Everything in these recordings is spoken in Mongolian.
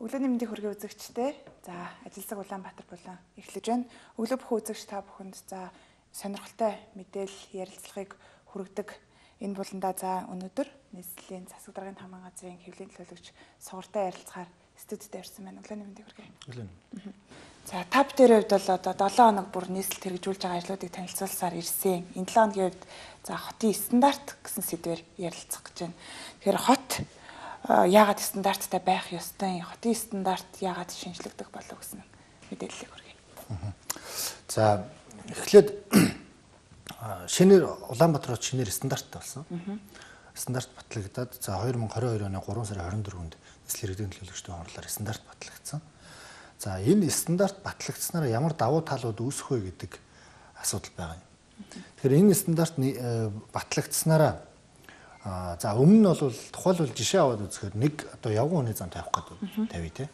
Өглөөний мэндийг хүргэе үзэгчтэй. За, ажилсаг Улаанбаатар болон эхлэж байна. Өглөө бүх үзэгч та бүхэнд за сонирхолтой мэдээлэл ярилцлагыг хүргэдэг энэ буландаа за өнөөдөр нийслэлийн засаг даргын тамган газрын хэвлэлийн төлөөлөгч сугартай ярилцахаар студид ирсэн байна. Өглөөний мэндийг хүргэе. Өглөө. За, тав дээр хувьд бол одоо 7 хоног бүр нийслэлд хэрэгжүүлж байгаа ажлуудыг танилцуулсаар ирсэн. Энэ 7 хоногийн хувьд за хотын стандарт гэсэн сэдвээр ярилцах гэж байна. Тэгэхээр хот яагаад стандарттай байх ёстой, хотын стандарт яагаад шинжлэгдэх болов гэсэн мэдээллийг хүргэе. За эхлээд шинээр Улаанбаатар хот шинээр стандарттай болсон. Стандарт батлагдаад за 2022 оны 3 сарын 24-нд нийслэлийн иргэдийн төлөөлөгчдийн хурлаар стандарт батлагдсан. За энэ стандарт батлагдсанаар ямар давуу талууд үүсэх вэ гэдэг асуудал байгаа юм. Тэгэхээр энэ стандарт батлагдсанараа за өмнө нь бол тухайлбал жишээ аваад үзэхээр нэг одоо явган хүний зам тавих гэдэг тавья те.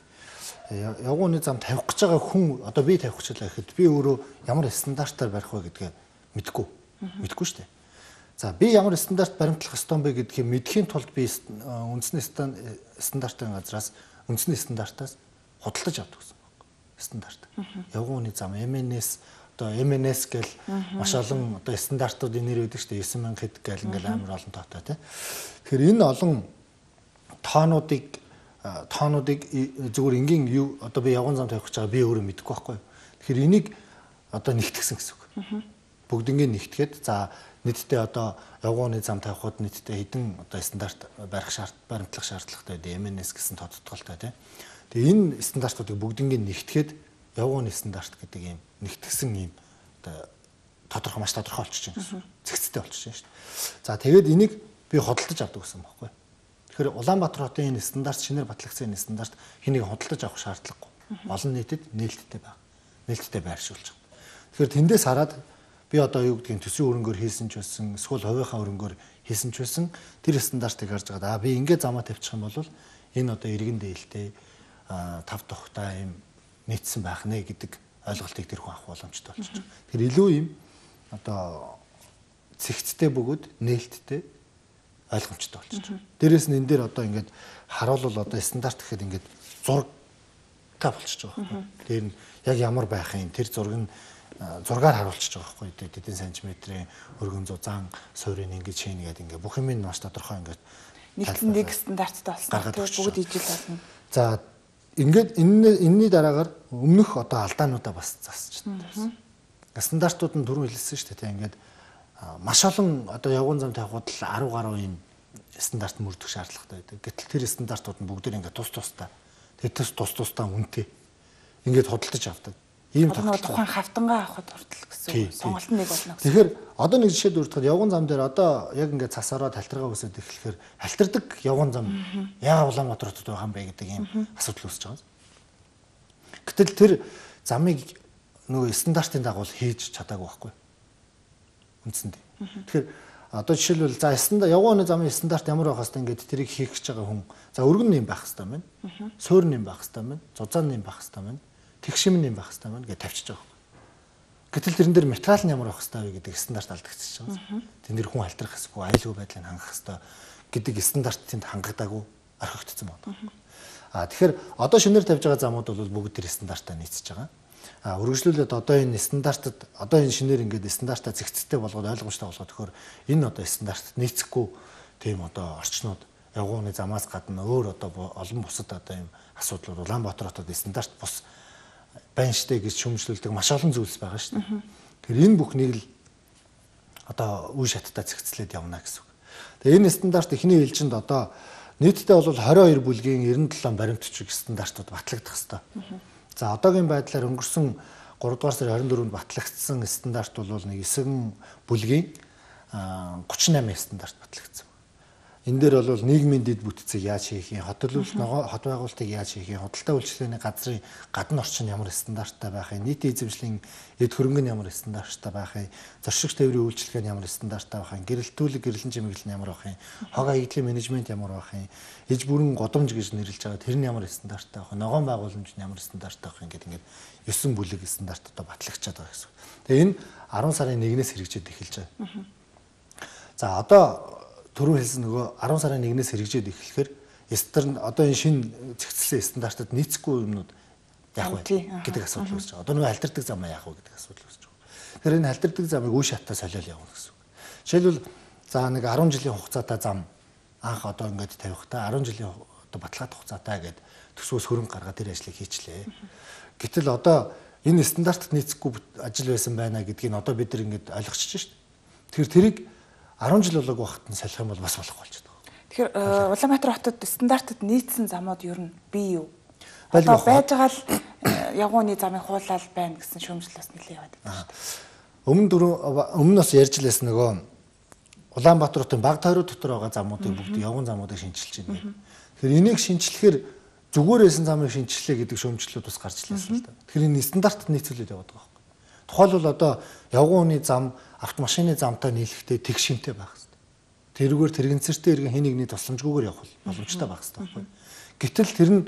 Явган хүний зам тавих гэж байгаа хүн одоо би тавих гэж байгаа гэхэд би өөрөө ямар стандартаар барих вэ гэдгээ мэдэхгүй шүү дээ. За би ямар стандарт баримтлах ёстой бэ гэдгийг мэдхийн тулд би үндэсний стандартын газраас үндэсний стандартаас худалдаж авдаг гэсэн байна. Стандарт. Явган хүний зам MNS одоо MNS гэл маш олон одоо стандартуудын нэр өгдөг шүү дээ. 9000 хэд гэл ингээл амар олон тоотой тий. Тэгэхээр энэ олон тоонуудыг зүгээр энгийн юу одоо би явган зам тавих гэж байгаа би өөрөө мэдэхгүй байхгүй. Тэгэхээр энийг одоо нэгтгэсэн гэсэн үг. Бүгднийг нэгтгээд за нийтдээ одоо явган зам тавихад нийтдээ хэдэн одоо стандарт баримтлах шаардлагатай дээ MNS гэсэн тодтолтой тий. Тэгээ энэ стандартуудыг бүгднийг нэгтгээд явган стандарт гэдэг юм нэгтгсэн юм одоо тодорхой маш тодорхой болчихж байна гэсэн. Зэгцтэй болчихж байна шүү дээ. За тэгээд энийг би худалдаж авдаг гэсэн байхгүй. Тэгэхээр Улаанбаатар хотын энэ стандарт шинээр батлагдсан энэ стандарт хэнийг худалдаж авах шаардлагагүй. Олон нийтэд нээлттэй байна. Нээлттэй байршуулж байгаа. Тэгэхээр тэндээс хараад би одоо юу гэдгийг төсвийн өрөнгөөр хийсэн ч байсан, эсвэл хувийнхаа өрөнгөөр хийсэн ч байсан тэр стандартыг харж байгаа. Би ингээд замаа тавьчих юм бол энэ одоо иргэн дээлтэй тав тухтай юм нийцсэн байх нэ гэдэг ойлголтыг тэр хүн авах боломжтой болчихж байгаа. Тэр илүү юм одоо цэгцтэй бөгөөд нээлттэй ойлгомжтой болчихж байгаа. Дээрээс нь энэ дээр одоо ингээд харуулвал одоо стандарт гэхэд ингээд зураг болчихж байгаа байхгүй. Тэр нь яг ямар байх юм тэр зураг нь зургаар харуулчихж байгаа байхгүй. Тэдэн сантиметрийн өргөн зузаан суурийн ингээд чинь гэдэг ингээд бүх юм нь маш тодорхой ингээд нэг стандарттай болсон. Бүгд ижил болно. За ингээд энэний дараагаар өмнөх одоо алдаануудаа бас засч байна. Стандартууд нь дөрөв хэлсэн шүү дээ. Ингээд маш олон одоо явган зам тавихад 10 гаруй юм стандарт мөрдөх шаардлагатай байдаг. Гэтэл тэр стандартууд нь бүгд ингээд тус тустай. Тэгээд тус тустай үнэтэй ингээд худалдаж авдаг. Ийм тухайн хавтангаа авахд хүртэл гэсэн сонголт нэг болно гэсэн. Тэгэхээр одоо нэг жишээ дурдахад явган зам дээр одоо яг ингээд цас ороод халтаргаа үсээд эхлэхээр халтардаг явган зам яагаад Улаанбаатар хотод байгаа юм бэ гэдэг ийм асуудал үүсэж байгаа. Гэтэл тэр замыг нөгөө стандартын дагуу хийж чадаагүй байхгүй. Үндсэндээ. Тэгэхээр одоо жишээлбэл за явган хүний замын стандарт ямар байх хэвээр ингээд тэрийг хийх гэж байгаа хүн за өргөн нэм байх хэвээр байна. Суурь нэм байх хэвээр байна. Зузаан нэм байх хэвээр байна. Тэгшим нэм байх хэвээр байна гэж тавьчихж байгаа. Гэтэл тэрэн дээр материал нь ямар байх хэвээр вэ гэдэг стандарт алдагдчихж байгаа. Тэн дээр хүн халтрах хэсгүй, аюулгүй байдлыг хангах хэвээр гэдэг стандартынд хангагдаагүй орхигдсон байна. Тэгэхээр одоо шинээр тавьж байгаа замууд бол бүгд тэр стандартаа нийцэж байгаа. Үргэлжлүүлээд одоо энэ стандартад одоо энэ шинээр ингээд стандартаа зэгцтэй болгоод ойлгомжтой болгоод төхөр энэ одоо стандартад нийцэхгүй тийм одоо орчнууд явган хүний замаас гадна өөр одоо олон бусад одоо юм асуудлууд Улаанбаатар хотод стандарт бус байна штэ гэж шүүмжлүүлдэг маш олон зүйлс байгаа штэ. Тэгэхээр энэ бүхнийг л одоо үе шаттай зэгцлээд явна гэсэн үг. Тэгээ энэ стандарт эхний ээлжинд одоо нийтдээ бол 22 бүлгийн 97 баримтчиг стандартууд батлагдах ёстой. За одоогийн байдлаар өнгөрсөн 3 дугаар сарын 24-нд батлагдсан стандарт бол нэг 9 бүлгийн 38 стандарт батлагдсан. Энэ дээр бол нийгмийн дэд бүтцийг яаж хийх юм, хот байгуулалтыг яаж хийх юм, худалдаа үйлчлэгээний газрын гадна орчин ямар стандарттай байх юм, нийтийн эзэмшлийн эд хөрөнгө нь ямар стандарттай байх юм, зоршигч тээврийн үйлчлэгээ нь ямар стандарттай байх юм, гэрэлтүүлэг гэрэлэн чимэглэл нь ямар байх юм, хог аяллаа менежмент ямар байх юм, иж бүрэн годомж гэж нэрлэж байгаа тэр нь ямар стандарттай байх юм, ногоон байгууламж нь ямар стандарттай байх юм гэдэг ингээд 9 бүлэг стандарт одоо батлагдчихад байгаа гэсэн. Тэгээ энэ 10 сарын 1-ээс хэрэгжээд эхэлж байгаа. За одоо түрүү хэлсэн нөгөө 10 сарын 1-ээс хэрэгжээд эхлэхээр одоо энэ шинэ зэгцэлсэн стандартад нийцэхгүй юмнууд яах вэ гэдэг асуудал үүсэж байгаа. Одоо нөгөө халдирдаг зам яах вэ гэдэг асуудал үүсэж байгаа. Тэгэхээр энэ халдирдаг замыг үе шатаа солиол явуулна гэсэн үг. Жишээлбэл за нэг 10 жилийн хугацаатай зам анх одоо ингээд тавихтаа 10 жилийн одоо баталгаат хугацаатай гэдэг төсвөөс хөрөнгө гаргаад тэр ажлыг хийчлээ. Гэтэл одоо энэ стандартад нийцэхгүй ажил байсан байна гэдгийг одоо бид нар ингээд ойлгочихж шүү дээ. Тэгэхээр тэрийг 10 жил болоогүй байхад нь салих юм бол бас болохгүй болж байгаа. Тэгэхээр Улаанбаатар хотод стандартад нийцсэн замууд ер нь бий юу? Одоо байж байгаа л явгооны замыг хуулаад байна гэсэн шүүмжил бас нэлээд яваад байна шүү дээ. Өмнө бас ярьж лээс нөгөө Улаанбаатар хотын баг тойрог дотор байгаа замуудыг бүгд явган замуудыг шинжилж байна. Тэгэхээр энийг шинжилэхээр зүгээр байсан замыг шинжилээ гэдэг шүүмжлэлүүд бас гарч ирлээ л да. Тэгэхээр энэ стандартад нийцүүлээд яваад байгаа байхгүй. Тухайлбал одоо явган хүний зам автомашины замтай нийлэхдээ тэг шимтэй байх хэрэгтэй. Тэрүүгээр тэрэгцэртэй иргэн хин нэгний тусламжгүйгээр явах боломжтой байх хэрэгтэй байхгүй. Гэтэл тэр нь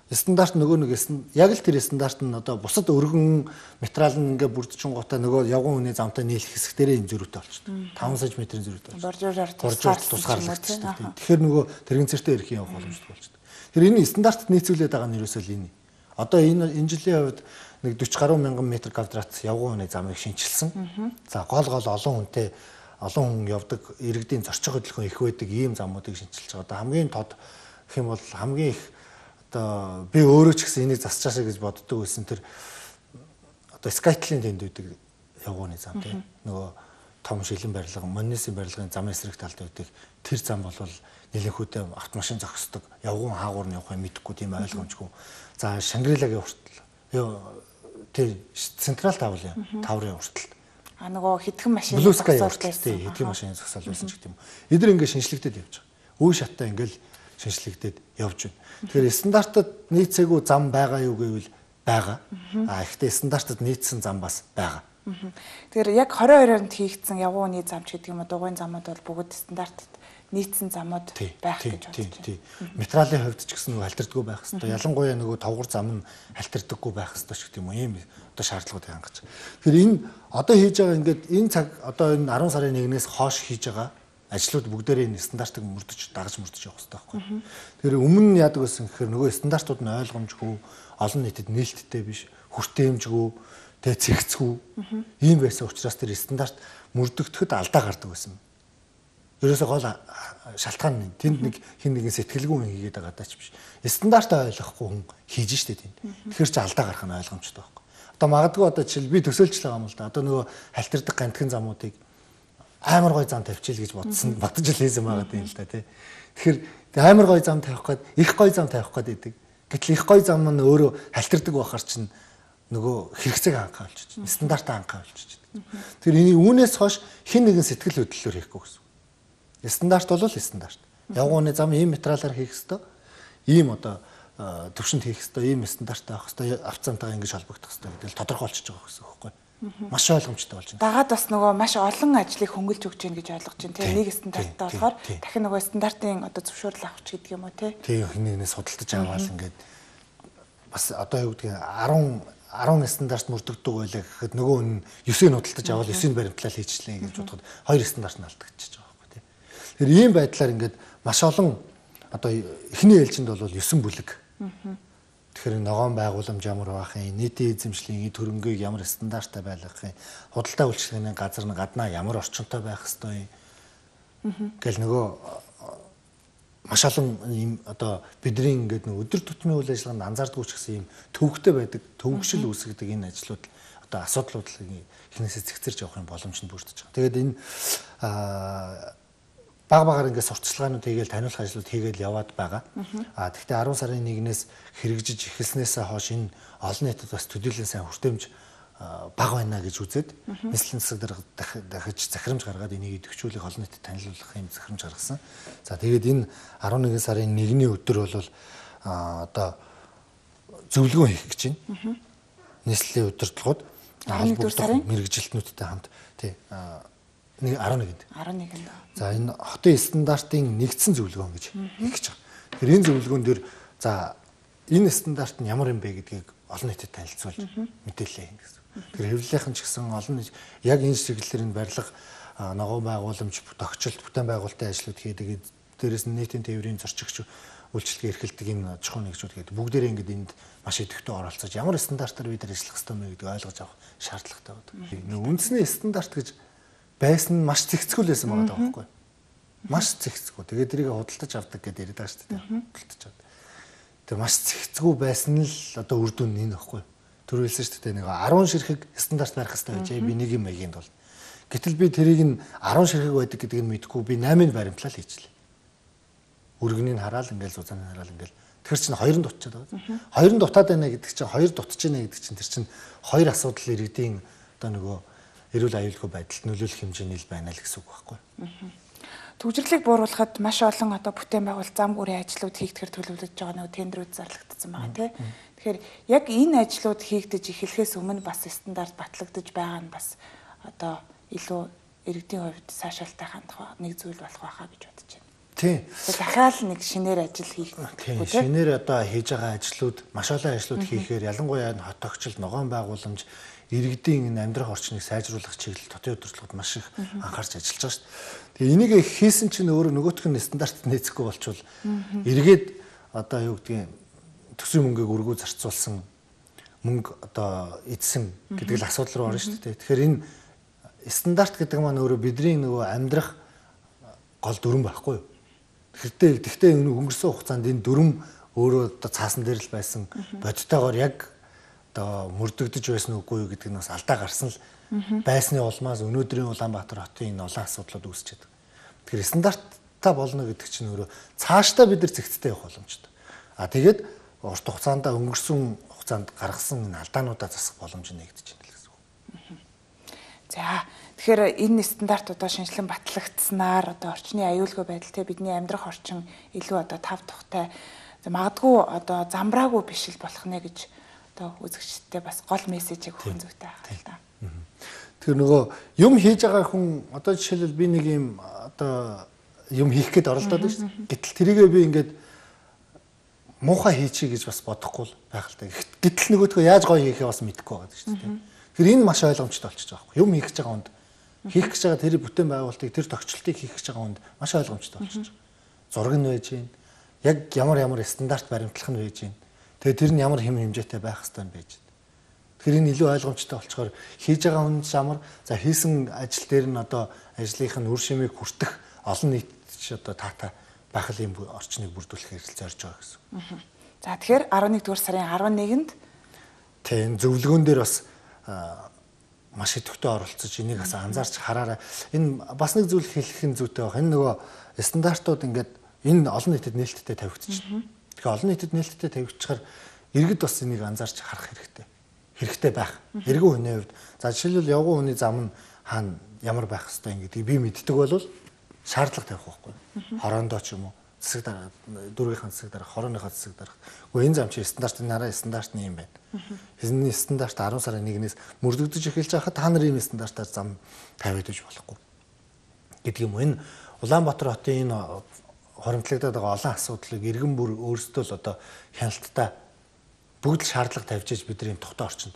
стандарт нөгөө нэг яг л тэр стандарт нь одоо бусад өргөн материал нь ингээ бүрдчин гутаа нөгөө явган хүний замтай нийлэх хэсгтэрээ энэ зөрүүтэй болчихдог. 5 см зөрүүтэй болчихдог. Боржоор тусгаарлагдчихдаг. Тэгэхээр нөгөө тэрэгцэртэй ирэх явах боломжтой болчихдог. Тэр энэ стандартад нийцүүлээд байгаа нь ерөөсөө л энэ. Одоо энэ жилийн хувьд нэг 40 гаруй мянган метр квадрат явган хүний замыг шинчилсэн. За гол олон хүнтэй олон хүн явдаг иргэдийн зорчих хөдөлгөөн их байдаг ийм замуудыг шинчилж байгаа. Одоо хамгийн тод гэх юм бол хамгийн их одоо би өөрөө ч гэсэн энийг засчаашаа гэж боддог байсан тэр одоо Skytel-ийн тэнд үүдэг явган хүний зам тийм нөгөө том шилэн барилга, Моннисийн барилгын замын эсрэг талд үүдэг тэр зам бол нэлээдтэй автомашин зогсдог явган хаагуур нь явах юм мэдэхгүй тийм ойлгомжгүй. За Шангрилагийн хүртэл тий централ таврын хүртэл нөгөө хэдхэн машин зогсоолбайсан. Хэдхэн машин зогсоол байсан ч гэдэг юм. Эдгээр ингээд шинжлэгдээд явж байгаа. Үе шатаа ингээд шинжлэгдээд явж байна. Тэгэхээр стандартад нийцээгүй зам байгаа юу гэвэл байгаа. Ихтэй стандартад нийцсэн зам бас байгаа. Тэгэхээр яг 22-нд хийгдсэн явгууны зам ч гэдэг юм уу дугуйн замууд бол бүгд стандартад нийцсэн замууд байх гэж бодож байна. Материалын хувьд ч гэсэн нөгөө халтардаггүй байх хэрэгтэй. Ялангуяа нөгөө товгор зам нь халтардаггүй байх хэрэгтэй ч гэдэг юм уу. Ийм одоо шаардлагууд хангаж. Тэгэхээр энэ одоо хийж байгаа ингээд энэ цаг одоо энэ 10 сарын 1-ээс хойш хийж байгаа ажлууд бүгдээрээ энэ стандартыг дагаж мөрдөж явах хэрэгтэй байхгүй. Тэгэхээр өмнө нь яадаг байсан гэхээр нөгөө стандартууд нь ойлгомжгүй, олон нийтэд нээлттэй биш, хүртээмжгүй, цэгцгүй ийм байсан учраас тэр стандарт мөрдөгдөхөд алдаа гардаг байсан. Ерөөсөө гол шалтгаан нь тэнд нэг хин нэгэн сэтгэлгүй хүн хийгээд байгаа даа ч биш. Стандартаа ойлгохгүй хүн хийж штэ тэнд. Тэгэхээр чи алдаа гарах нь ойлгомжтой байхгүй. Одоо магадгүй одоо жишээл би төсөөлж байгаа юм л да. Одоо нөгөө халтардаг гантхэн замуудыг амар гой зам тавьчихъя гэж бодсон. Бодож л хийсэн байгаа юм л да тий. Тэгэхээр амар гой зам тавих гээд их гой зам тавих гээд идэг. Гэтэл их гой зам нь өөрөө халтардаг байхаар чинь нөгөө хэрэгцээг хангах болчих. Стандартаа хангах болчих. Тэр энэ үүнээс хойш хин нэгэн сэтгэл хөдлөлөөр хийхгүй гэсэн. Стандарт бол стандарт. Явгууны зам ийм материалаар хийх ёстой. Ийм одоо төвшөнд хийх ёстой, ийм стандарттай байх ёстой, авцаантайгаа ингэж холбогдох ёстой гэдэг л тодорхойлчихж байгаа гэсэн үг байхгүй. Маш ойлгомжтой болж байна. Дагаад бас нөгөө маш олон ажлыг хөнгөлж өгч гин гэж ойлгож байна. Тэгээ нэг стандарттай болохоор дахин нөгөө стандартын одоо зөвшөөрөл авах ч гэдэг юм уу те. Тэгээ хинээс судалдаж аваад ингээд бас одоо юу гэдгийг 10 стандарт мөрдөгдөг байлаа гэхэд нөгөө нь 9-ийг худалдаж аваад 9-ийг баримтлал хийчихлээ гэж бодоход 2 стандарт нь алдагдчихж байгаа байхгүй тийм. Тэгэхээр ийм байдлаар ингээд маш олон одоо эхний ээлжинд бол 9 бүлэг. Тэгэхээр ногоон байгууламж ямар байх юм, нийтийн эзэмшлийн эд хөрөнгөийг ямар стандарттай байлгах юм, худалдаа үйлчлэгээний газар нь гаднаа ямар орчинтой байх ёстой юм. Гэл нөгөө маш олон ийм одоо бидний ингээд нэг өдөр тутмын үйл ажиллагаанд анзаардгүй ч гэсэн ийм төвөгтэй байдаг, төвөгшил үүсгдэг энэ ажлууд одоо асуудлуудыг эхнээсээ зэгцэрж явах юм боломж нь бүрдэж байгаа. Тэгээд энэ баг багаар ингээд сурталчилгаанууд хийгээл таниулах ажлууд хийгээл яваад байгаа. Тэгэхдээ 10 сарын 1-ээс хэрэгжиж эхэлснээсээ хойш энэ олон нийтэд бас төдийлөн сайн хүртээмж баг байна гэж үзээд нийслэлийн засаг дарга дахиж захирамж гаргаад энийг идэвхжүүлэх олон нийтэд танилцуулах юм захирамж гаргасан. За тэгээд энэ 11 сарын 1-ний өдөр бол одоо зөвлөгөө хийх гэж байна. Нийслэлийн удирдлагууд 11 сарын мэргэжилтнүүдтэй хамт тий 11-нд. За энэ хотын стандартын нэгдсэн зөвлөгөө гэж хийх гэж байгаа. Тэгэхээр энэ зөвлөгөөн дээр за энэ стандарт нь ямар юм бэ гэдгийг олон нийтэд танилцуулж мэдээлэл хийнэ гэсэн. Тэгэхээр хэвлэлийнхэн ч гэсэн олон нийт яг энэ чиглэлээр энэ барилга ногоон байгууламж тогтчлт бүтээн байгуулалтын ажлууд хийдэг дээрээс нь нийтийн тээврийн зорчигч үйлчлэгээ эрхэлдэг энэ аж ахуйн нэгжүүд гэдэг бүгдээрээ ингээд энд маш идэвхтэй оролцож ямар стандартаар бид ажиллах ёстой мэй гэдгийг ойлгож авах шаардлагатай байдаг. Үндэсний стандарт гэж байсан нь маш зэгцгүүл байсан байгаа байхгүй. Маш зэгцгүү. Тэгээд тэрийг худалдаж авдаг гэдээ яриад байгаа шүү дээ. Худалдаж авдаг. Тэгээд маш зэгцгүү байсан нь л одоо үр дүн нь энэ байхгүй. Төрүүлсэн шүү дээ. Нэг 10 ширхэг стандарт барих хэрэгтэй байж би нэг юм маягийн бол. Гэтэл би тэрийг нь 10 ширхэг байдаг гэдгийг нь мэдэхгүй би 8-ыг баримтлал хийчихлээ. Өргөнийг хараал ингээл зузааны хараал ингээл тэр чинь хоёр нь дутчихад байгаа. Хоёр нь дутаад байна гэдэг чинь хоёр дутж байна гэдэг чинь тэр чинь хоёр асуудал иргэдийн одоо нөгөө эрүүл аюулгүй байдалд нөлөөлөх хэмжээний л байна л гэсэн үг байхгүй. Төвжирлийг бууруулахад маш олон одоо бүтээн байгуул зам гүрийн ажлууд хийгдэхэр төлөвлөж байгаа нөгөө тендерүүд зарлагдсан байгаа тийм. Тэгэхээр яг энэ ажлууд хийгдэж эхлэхээс өмнө бас стандарт батлагдаж байгаа нь бас одоо илүү иргэдийн хувьд сайшаалтай хандах нэг зүйл болох байхаа гэж бодож байна. Тийм. Дахиад нэг шинээр ажил хийх. Тийм. Шинээр одоо хийж байгаа ажлууд, маш олон ажлууд хийхээр ялангуяа хот тогтчлол, ногоон байгууламж, иргэдийн энэ амьдрах орчныг сайжруулах чиглэл хотын удирдлагууд маш их анхаарч ажиллаж байгаа шүү дээ. Тэгээ энийг хийсэн чинь өөрөө нөгөөх нь стандартд нээцэхгүй болчвол эргээд одоо юу гэдгийг төсвийн мөнгөийг өргөө зарцуулсан мөнгө одоо эдсэн гэдэг л асуудал руу орно шүү дээ. Тэгэхээр энэ стандарт гэдэг маань өөрөө бидний нөгөө амьдрах гол дүрэн байхгүй юу? Гэхдээ өнгөрсөн хугацаанд энэ дүрм өөрөө одоо цаасан дээр л байсан бодтойгоор яг одоо мөрдөгдөж байсан үгүй юу гэдэг нь бас алдаа гарсан л байсны улмаас өнөөдрийн Улаанбаатар хотын энэ олон асуудлууд үүсчихэд. Тэгэхээр стандарттай болно гэдэг чинь өөрөө цаашдаа бид нар зэгцтэй явах боломжтой. Тэгээд урт хугацаанд өнгөрсөн хугацаанд гаргасан энэ алдаануудаа засах боломж нэгдэж байна гэсэн үг. За тэгэхээр энэ стандарт одоо шинжилэн батлагдсанаар одоо орчны аюулгүй байдал те бидний амьдрах орчин илүү одоо тав тухтай магадгүй одоо замбраагүй биш л болох нэ гэж одоо үзэгчдээ бас гол мессежийг өгөх зүйтэй байна л да. Тэр нөгөө юм хийж байгаа хүн одоо жишээлбэл би нэг юм одоо юм хийх гээд оролдоод байна шүү дээ. Гэтэл тэрийгээ би ингээд муухай хийчихье гэж бас бодохгүй байх л та. Гэтэл нөгөөдгөө яаж гоё хийхээ бас мэдэхгүй байгаа шүү дээ. Тэр энэ маш ойлгомжтой болчихж байгаа юм. Юм хийх гэж байгаа хүнд хийх гэж байгаа тэр бүтээн байгуулалтыг тэр тогтчлтыг хийх гэж байгаа хүнд маш ойлгомжтой болчихж байгаа. Зураг нь байж гин. Яг ямар стандарт баримтлах нь байж гин. Тэгээ тэр нь ямар хэм хэмжээтэй байх хэвээр юм байж. Тэгэхээр энэ илүү ойлгомжтой болчоор хийж байгаа хүн ямар за хийсэн ажил дээр нь одоо ажлынх нь үр шимийг хүртэх олон нийт ч одоо таатай байх юм орчныг бүрдүүлэхээр зорж байгаа гэсэн. За тэгэхээр 11 дугаар сарын 11-нд тийм зөвлөгөөн дээр бас маш идэвхтэй оролцож энийг бас анзаарч хараарай. Энэ бас нэг зүйл хэлэх нь зүйтэй байх. Энэ нөгөө стандартууд ингээд энэ олон нийтэд нээлттэй тавигдчихна. Тэгэхээр олон нийтэд нээлттэй тавигдчихаар иргэд бас энийг анзаарч харах хэрэгтэй. Хэрэгтэй байх. Эргэн хүний хувьд за жишээлбэл явган хүний зам нь хаана ямар байх хэвээр гэдгийг би мэддэг бол шаардлага тавих байхгүй. Хороондоо ч юм уу засаг дараа дүүргийнхаа засаг дараа хорооныхаа засаг дараа. Гэхдээ энэ зам чи стандартын нараа стандартны юм байна. Энэ стандарт 10 сарын 1-ээс мөрдөгдөж эхэлж байхад та нарын энэ стандартаар зам тавиадаж болохгүй гэдэг юм. Энэ Улаанбаатар хотын энэ хоримтлагдаад байгаа олон асуудлыг иргэн бүр өөрсдөө л одоо хяналттай бүгд л шаардлага тавьж бидний тухтай орчинд.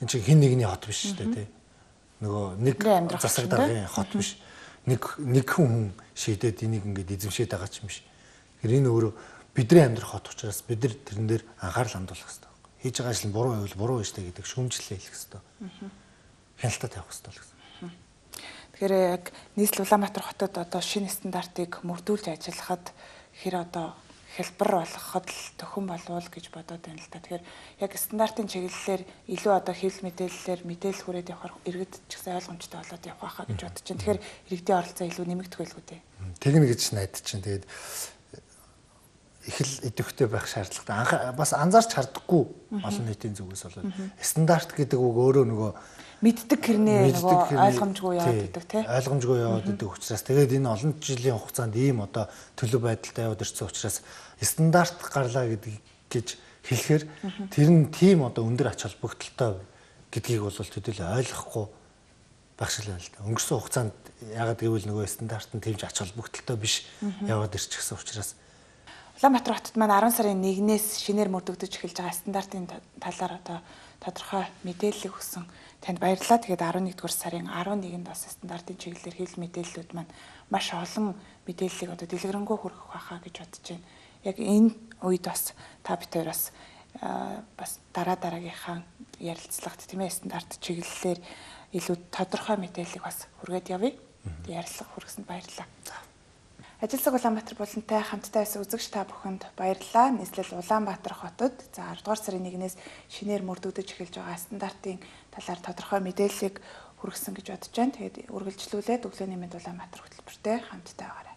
Энд чинь хин нэгний хот биш шүү дээ тий. Нөгөө нэг засаг даргын хот биш. Нэг хүн шийдээд энийг ингээд эзэмшээд байгаа ч юм биш. Тэгэхээр энэ өөрөө бидний амьдрах хот учраас бид нар тэрэн дээр анхаарал хандуулах хэрэгтэй. Хийж байгаа ажил нь буруу байвал буруу байж таа гэдэг шүүмжлэлээ хэлэх хэрэгтэй. Хяналтаа тавих хэрэгтэй л гэсэн. Тэгэхээр яг нийслэл Улаанбаатар хотод одоо шинэ стандартыг мөрдүүлж ажиллахад хэр одоо хэлбэр болгоход л төхөн болвол гэж бодоод байна л та. Тэгэхээр яг стандартын чиглэлээр илүү одоо хэл мэдээллээр мэдээлэл хүрээд явахаар иргэд ч гэсэн ойлгомжтой болоод явах байхаа гэж бодож байна. Тэгэхээр иргэдийн оролцоо илүү нэмэгдэх байлгүй дээ. Тэгнэ гэж найдаж чинь. Тэгээд их л идэвхтэй байх шаардлагатай. Бас анзаарч хардаггүй олон нийтийн зүгээс болоод стандарт гэдэг үг өөрөө нөгөө мэддэг хэрнээ нөгөө ойлгомжгүй яваад идэг тий. Ойлгомжгүй яваад идэг учраас тэгээд энэ олон жилийн хугацаанд ийм одоо төлөв байдалтай яваад ирсэн учраас стандарт гарлаа гэж хэлэхээр тэр нь тийм одоо өндөр ач холбогдолтой гэдгийг бол төдийлөө ойлгохгүй байх шиг л байна. Өнгөрсөн хугацаанд ягаад гэвэл нөгөө стандарт нь тэмж ач холбогдолтой биш яваад ирчихсэн учраас Улаанбаатар хотод маань 10 сарын 1-ээс шинээр мөрдөгдөж эхэлж байгаа стандартын талаар одоо тодорхой мэдээлэл өгсөн танд баярлалаа. Тэгээд 11 дугаар сарын 11-нд бас стандартын чиглэлээр хэл мэдээллүүд маань маш олон мэдээллийг одоо дэлгэрэнгүй хүргэх байхаа гэж бодож байна. Яг энэ үед бас та бид хоёр бас дараагийнхаа ярилцлагт тийм ээ стандарт чиглэлээр илүү тодорхой мэдээллийг бас хүргээд явъя. Ярилцлага хүргэсэнд баярлалаа. Ажил цаг Улаанбаатар булантай хамтдаа байсан үзэгч та бүхэнд баярлалаа. Нийслэл Улаанбаатар хотод 10 дугаар сарын 1-ээс шинээр мөрдөгдөж эхэлж байгаа стандартын талаар тодорхой мэдээллийг хүргэсэн гэж бодож байна. Тэгээд үргэлжлүүлээд өглөөний мэнд Улаанбаатар хөтөлбөртэй хамтдаа байгаарай.